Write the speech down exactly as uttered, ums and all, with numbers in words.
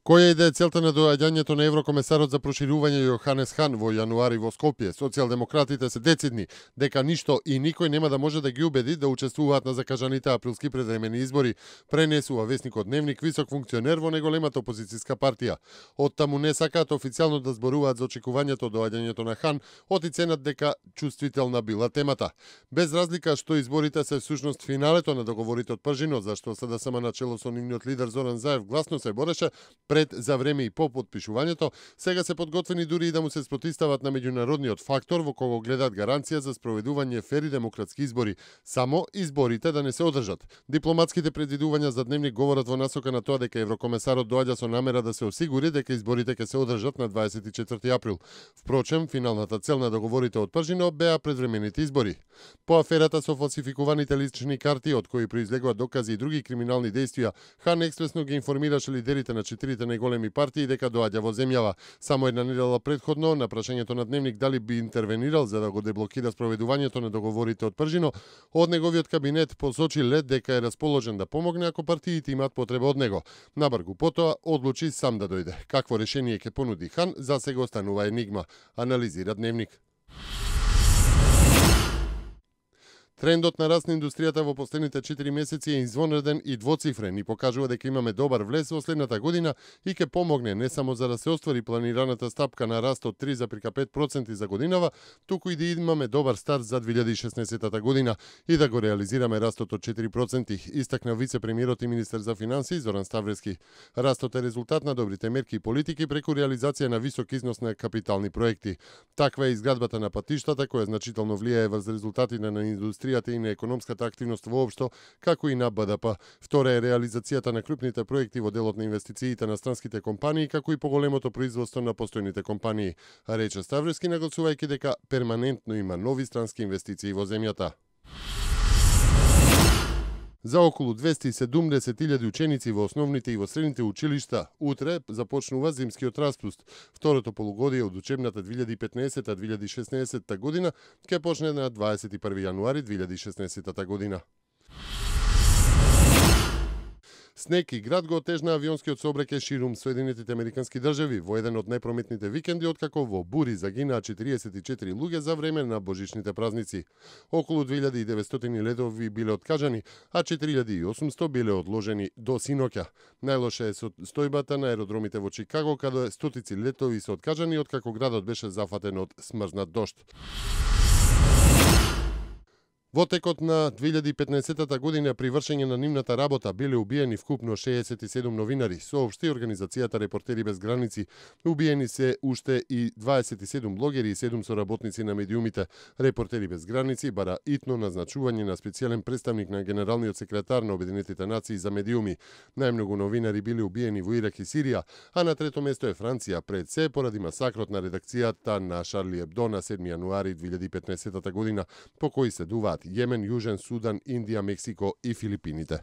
Која е целта на доаѓањето на еврокомесарот за проширување Јоханес Хан во јануари во Скопје? Социјалдемократите се децидни дека ништо и никој нема да може да ги убеди да учествуваат на закажаните априлски предвремени избори, пренесува весникот Дневник висок функционер во неголемата опозицијска партија. Од таму не сакаат официјално да зборуваат за очекувањето доаѓањето на Хан, оценат дека чувствителна била темата. Без разлика што изборите се всушност финалето на договорите од Пржино, зашто СДСМ начело со нивниот лидер Зоран Заев гласно се бореше пред, за време и по подпишувањето, сега се подготвени дури и да му се спротистават на меѓународниот фактор во кого гледаат гаранција за спроведување фери демократски избори, само изборите да не се одржат. Дипломатските предвидувања за Дневник говорат во насока на тоа дека еврокомесарот доаѓа со намера да се осигури дека изборите ќе се одржат на дваесет и четврти април. Впрочем, финалната цел на договорите од Пржино беа предвремените избори. По аферата со фалсификуваните лични карти, од кои произлегуваат докази и други криминални дејствија, Хан експресно ги информираше лидерите на четирите најголеми партии дека доаѓа во земјава. Само една недела предходно, на прашањето на Дневник дали би интервенирал за да го деблокира спроведувањето на договорите од Пржино, од неговиот кабинет посочи лед дека е расположен да помогне ако партиите имаат потреба од него. Набргу потоа одлучи сам да дојде. Какво решение ќе понуди Хан, за сега останува енигма, анализира Дневник. Трендот на раст на индустријата во последните четири месеци е извонреден и двоцифрен и покажува дека имаме добар влез во следната година и ќе помогне не само за да се оствари планираната стапка на раст од три зарез пет проценти за годинава, туку и да имаме добар старт за две илјади и шеснаесетта година и да го реализираме растот од четири проценти, истакна вице-премиерот и министер за финансии Зоран Ставрески. Растот е резултат на добрите мерки и политики преку реализација на висок износ на капитални проекти. Таква е изградбата на патиштата која значително влијае врз резултатите на индустријата и на економската активност воопшто, како и на Б Д П. Втора е реализацијата на крупните проекти во делот на инвестициите на странските компании, како и поголемото производство на постојните компании, рече Ставрески, нагласувајќи дека перманентно има нови странски инвестиции во земјата. За околу двесте и седумдесет илјади ученици во основните и во средните училишта утре започнува зимскиот распуст. Второто полугодие од учебната две илјади и петнаесетта две илјади и шеснаесетта година ќе почне на дваесет и први јануари две илјади и шеснаесетта година. Снег и град го отежна авионскиот сообраќај ширум Соединетите Американски држави во еден од најпрометните викенди откако во бури загинаа четириесет и четири луѓе за време на божичните празници. Околу две илјади и деветстотини летови биле откажани, а четири илјади и осумсто биле одложени до синоќа. Најлоша е состојбата на аеродромите во Чикаго, каде стотици летови се откажани откако градот беше зафатен од смрзнат дожд. Во текот на две илјади и петнаесетта година при вршење на нивната работа биле убиени вкупно шеесет и седум новинари, соопшти организацијата Репортери без граници. Убиени се уште и дваесет и седум блогери и седум соработници на медиумите. Репортери без граници бара итно назначување на специјален представник на генералниот секретар на Обединетите нации за медиуми. Најмногу новинари биле убиени во Ирак и Сирија, а на трето место е Франција, пред се поради масакрот на редакцијата на Шарли Ебдо на седми јануари две илјади и петнаесетта година, по кои се дуваат Јемен, Јужен Судан, Индија, Мексико и Филипините.